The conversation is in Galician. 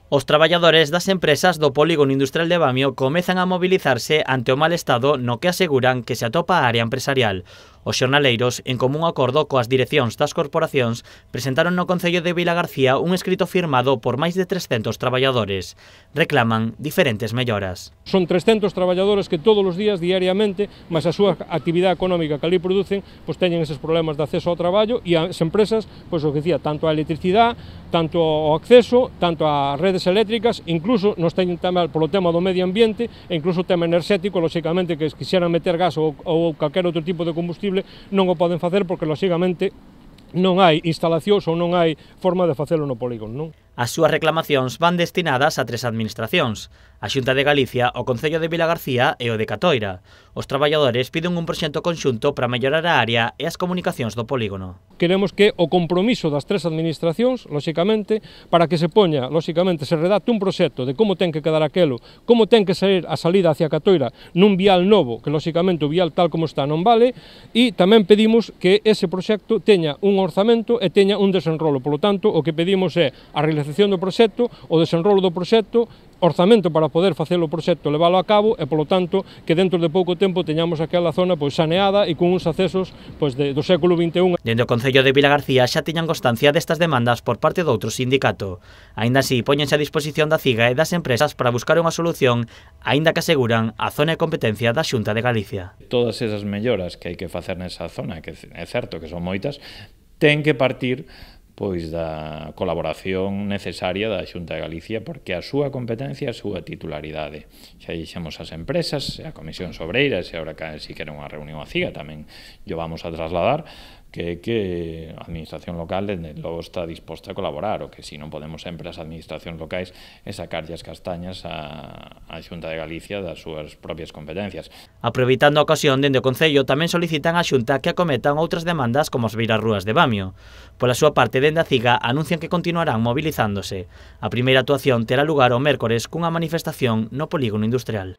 Os traballadores das empresas do Polígono Industrial de Bamio comezan a mobilizarse ante o mal estado no que aseguran que se atopa a área empresarial. Os xornaleiros, en común acordo coas direccións das corporacións, presentaron no Concello de Vilagarcía un escrito firmado por máis de 300 traballadores. Reclaman diferentes melloras. Son 300 traballadores que todos os días, diariamente, máis a súa actividade económica que ali producen, pois teñen eses problemas de acceso ao traballo e as empresas, pois o que dicía, tanto a electricidade, tanto ao acceso, tanto ás redes eléctricas, incluso nos teñen tamén polo tema do medio ambiente e incluso o tema enerxético, lóxicamente, que quixeran meter gas ou calquer outro tipo de combustible, non o poden facer porque, lóxicamente, non hai instalacións ou non hai forma de facelo no polígono, non? As súas reclamacións van destinadas a 3 administracións: a Xunta de Galicia, o Concello de Vilagarcía e o de Catoira. Os traballadores piden un proxecto conxunto para mellorar a área e as comunicacións do polígono. Queremos que o compromiso das 3 administracións, lóxicamente, para que se poña, lóxicamente, se redacte un proxecto de como ten que quedar aquelo, como ten que sair a salida hacia Catoira nun vial novo, que lóxicamente o vial tal como está non vale, e tamén pedimos que ese proxecto teña un orzamento e teña un desenrolo. Por lo tanto, o que pedimos é a realización do proxecto, o desenrolo do proxecto, orzamento para poder facer o proxecto, leválo a cabo e, polo tanto, que dentro de pouco tempo teñamos aquela zona pois saneada e con uns accesos pois do século XXI. Dende o Concello de Vilagarcía xa tiñan constancia destas demandas por parte doutro sindicato. Aínda así, póñense a disposición da CIGA e das empresas para buscar unha solución, aínda que aseguran a zona de competencia da Xunta de Galicia. Todas esas melloras que hai que facer nesa zona, que é certo que son moitas, ten que partir pois da colaboración necesaria da Xunta de Galicia, porque a súa competencia é a súa titularidade. Xa dixemos as empresas, a Comisión Sobreira, e agora si quere unha reunión a CIGA tamén yo vamos a trasladar, que a administración local logo está disposta a colaborar, o que si non podemos sempre as administracións locais é sacarlle as castañas a Xunta de Galicia das súas propias competencias. Aproveitando a ocasión, dende o Concello tamén solicitan á Xunta que acometan outras demandas como as beirarrúas de Bamio. Pola súa parte, dende a CIGA anuncian que continuarán movilizándose. A primeira actuación terá lugar o mércores cunha manifestación no Polígono Industrial.